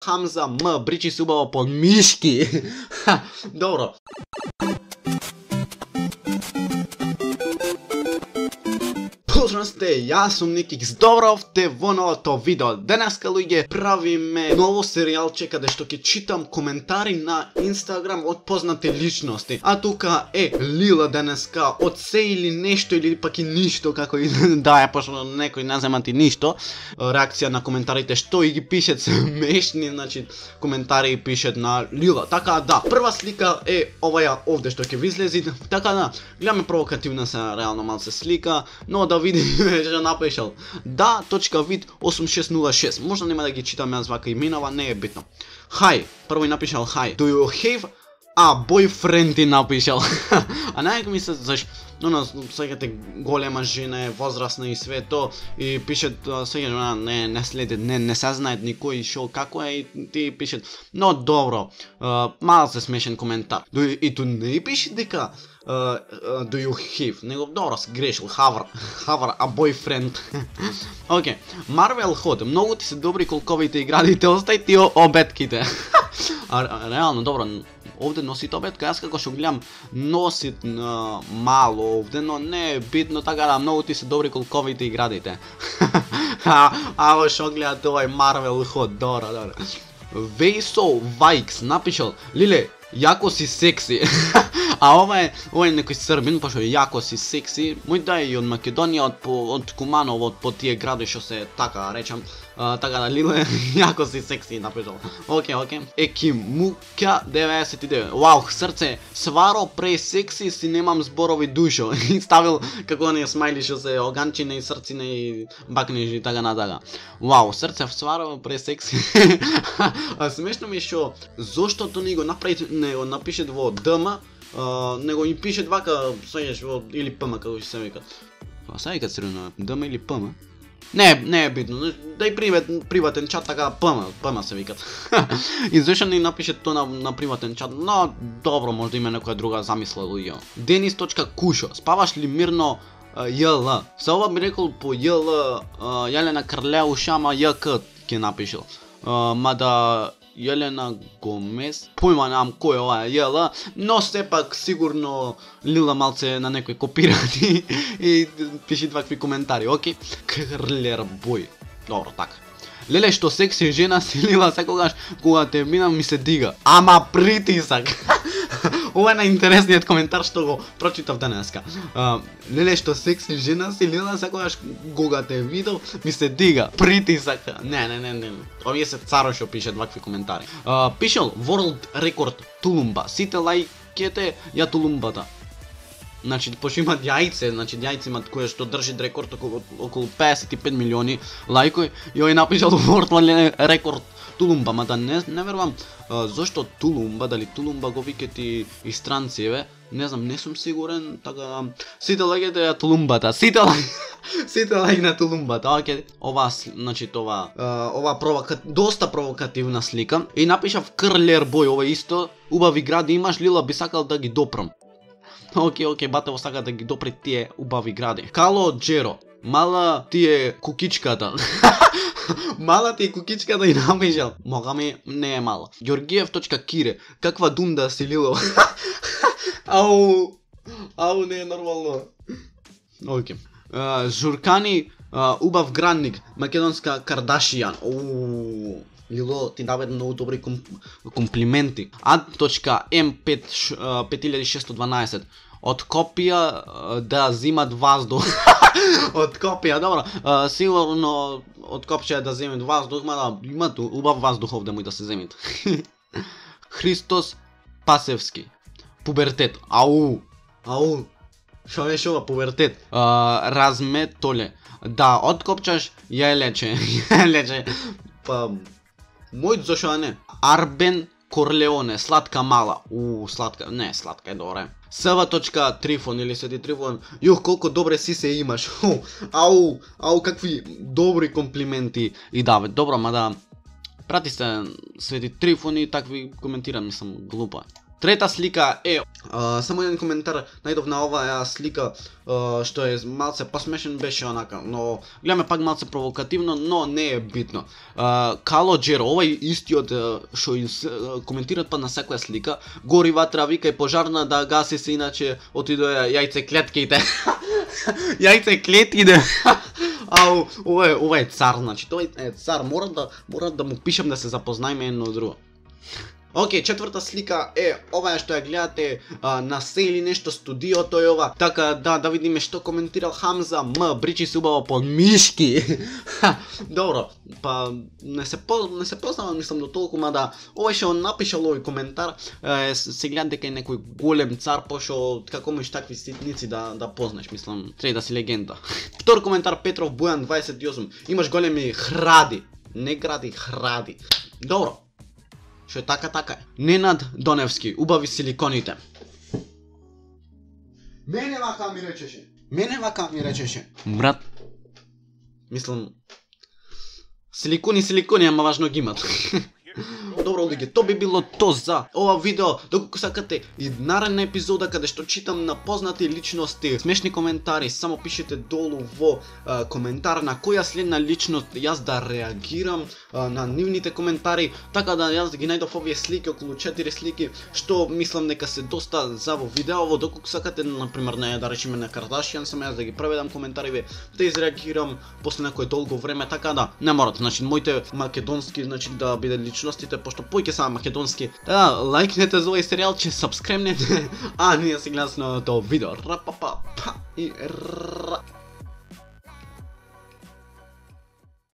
Хамза М, бричи се убаво по мишки. Добро. Поздрав сте, јас сум Никикс, добровте во новото видео. Денеска, луѓе, правиме ново серијалче каде што ќе читам коментари на Инстаграм од познати личности. А тука е Лила денеска од се или нешто или пак и ништо, како и да е, пошто некој не земати ништо. Реакција на коментарите што и ги пишет смешни, значи коментари пишет на Лила. Така да, прва слика е оваја овде што ќе ви излези. Така да, гледаме провокативна се реално малце слика, но да видим што напишал. Да.вид 8606. Можда нема да ги читам јас вака именава, не е битно. Hi, прво и напишал hi. Do you have a boyfriend и напишал. А најако ми се заш секате голема жена е возрастна и све то и пишет сега не следи, не се знаат никој шо како е и ти пишет. Но добро, малце смешен коментар. И ту не пише дека do you have, него добро се грешил, have a boyfriend. Окей, Marvel Hot, многу ти се добри колковите иградите, остај ти обетките. Реално, добро, овде носит обетка, јас како што гледам носит мало овде, но не е битно, така да многу ти се добри колковите иградите. Аво шо гледате овај Marvel Hot, добро. Вейсо Вајкс напишал, Лиле, јако си секси. А ова е некој србин, пошто јако си секси. Мој да е и од Македонија, од Куманово, од по тие гради што се така речам. Така да, Лиле, јако си секси напишал. Окей. Екимуќа 99. Вау, срце, сваро пре секси си немам зборови душо. И ставил како оние смајли што се оганчине и срцине и бакнежи и така натака. Вау, срце, сваро пре секси. Смешно ми е што заштото не го напишет во ДМ, него им пишет вака, сеќаш во или ПМ како ќе се вика. Сега вика црвено, ДМ или ПМ? Не е битно, дај приватен чат, така ПМ се викат. И зашто не напишет то на приватен чат, но добро, може да има некоја друга замисла луѓе. Denis.Кушо, спаваш ли мирно ЈЛ? Се ова би рекол по ЈЛ, Јелена Крлеуш, ама ЈК ќе напишел. Мада Јелена Гомес, појма немам кој е ова ЈЛ, но сепак сигурно Лила малце на некој копирати и пиши вакви коментари, окей? Крлер бој. Добро, така. Леле, што секси жена си, Лила, секогаш кога те минам ми се дига. Ама притисак. Ова е најинтересниот коментар што го прочитав денеска. Леле, што секси жена си, Лила, секогаш кога те видов ми се дига. Притисак. Не. Овие се царо што пишат вакви коментари. Пишел World Record тулумба. Сите лајкете ја тулумбата. Значи, пошто имат јајце, јајце имат кое што држи рекорд околу 55 милиони лајкови и овој напишал World Record тулумба, мада не верувам зошто тулумба, дали тулумба го викат и странци, не знам, не сум сигурен, така сите лаѓете ја тулумбата, сите лаѓе на тулумбата, окей, ова, значи това, доста провокативна слика и напишав Крлер бој, ова исто, убави гради имаш, Лила, би сакал да ги допрам. Окей, бате сака да ги допре тие убави гради. Кало Джеро, мала ти е кукичката. Мала ти е кукичката и напишал. Мога ми не е мала. Георгиев.Кире, каква дунда си, Лило. Ау, не е нормално. Окей. Журкани, убав градник, македонска Кардашијан. Лило, ти даде многу добри комплименти. Ad.M5612 од Копија да зимат воздух. Од Копија, добро. Сигурно од Копија да земат воздух, мада имат убав воздух овде мој да се земит. Христос Пасевски. Пубертет. Ау. Шо беше ова пубертет? Разметоле. Да, откопчаш ја лече. Мојот зашо не? Арбен Корлеоне, сладка мала. Сладка, не, сладка е добре. Св.Трифон или Свети Трифон, колко добре си се имаш. Какви добри комплименти и даве. Добро, мада прати се Свети Трифон и такви коментирам, мислам глупа. Трета слика е само еден коментар најдов на оваа слика што е малце посмешен, беше онака, но гледаме пак малце провокативно, но не е битно. Кало Джеро, овај истиот што коментират па на секоја слика, гори ватра, вика и пожарна да гаси се, иначе отидоа јајцеклетките. Јајцеклетките. Ау, ова е цар, значи тој е цар, мора да му пишам да се запознаеме едно друго. Океј, четврта слика е оваа што ја гледате на се или нешто студиото е ова. Така да видиме што коментирал Хамза М, бричи се убаво под мишки. Добро, па не се познавам мислам до толку, мада овој што напишал овој коментар се гледа дека е некој голем цар, пошто како можеш такви ситници да познаеш, мислам, треба да си легенда. Втор коментар Петров Бујан 28. Имаш големи хради, не гради, хради. Добро. Што е така е. Ненад Доневски, убави силиконите. Мене вака ми речеше. Брат. Мислам, силикони, ама важно ги имат. Добро, луѓе, тоа би било то за ова видео. Доколку сакате и наредна епизода каде што читам на познати личности, смешни коментари, само пишете долу во коментар на која следна личност јас да реагирам на нивните коментари, така да јас ги најдов овие слики, околу 4 слики, што мислам дека се доста за во видеово. Доколку сакате, например, да речеме на Кардашијан, само јас да ги преведам коментариве, да изреагирам после некој долго време, така да не морат, значи моите македонски, значи да биде личностите, пошто појќе са македонски. Да, лајкнете за овој серијалче, сабскребнете, а ние се гледаме на тоа видео. Рапапа, па и ра.